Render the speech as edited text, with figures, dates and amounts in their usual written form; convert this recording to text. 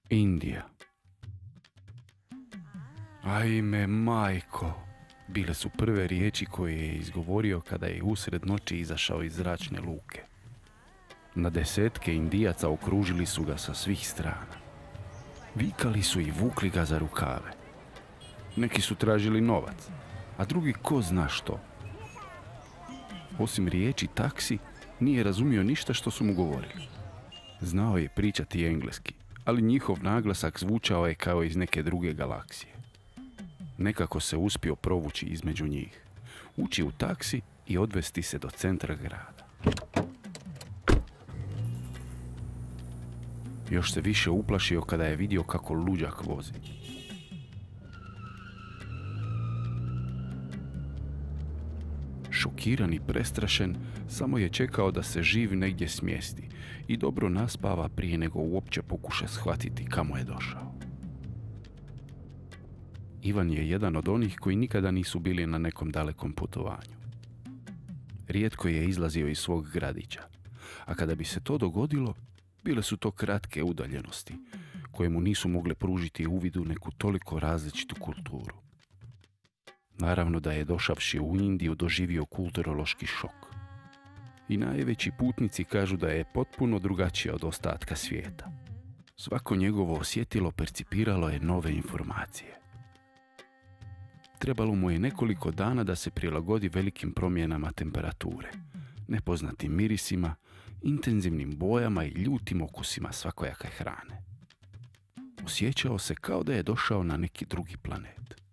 Indija. Ajme, majko, bile su prve riječi koje je izgovorio kada je usred noći izašao iz zračne luke. Na desetke Indijaca okružili su ga sa svih strana. Vikali su i vukli ga za rukave. Neki su tražili novac, a drugi ko zna što. Osim riječi taksi, nije razumio ništa što su mu govorili. Znao je pričati engleski, ali njihov naglasak zvučao je kao iz neke druge galaksije. Nekako se uspio provući između njih, ući u taksi i odvesti se do centra grada. Još se više uplašio kada je vidio kako luđak vozi. Šokiran i prestrašen, samo je čekao da se živ negdje smjesti i dobro naspava prije nego uopće pokuša shvatiti kamo je došao. Ivan je jedan od onih koji nikada nisu bili na nekom dalekom putovanju. Rijetko je izlazio iz svog gradića, a kada bi se to dogodilo, bile su to kratke udaljenosti, koje mu nisu mogle pružiti uvid u neku toliko različitu kulturu. Naravno da je došavši u Indiju doživio kulturološki šok. I najveći putnici kažu da je potpuno drugačija od ostatka svijeta. Svako njegovo osjetilo percipiralo je nove informacije. Trebalo mu je nekoliko dana da se prilagodi velikim promjenama temperature, nepoznatim mirisima, intenzivnim bojama i ljutim okusima svakojake hrane. Osjećao se kao da je došao na neki drugi planet.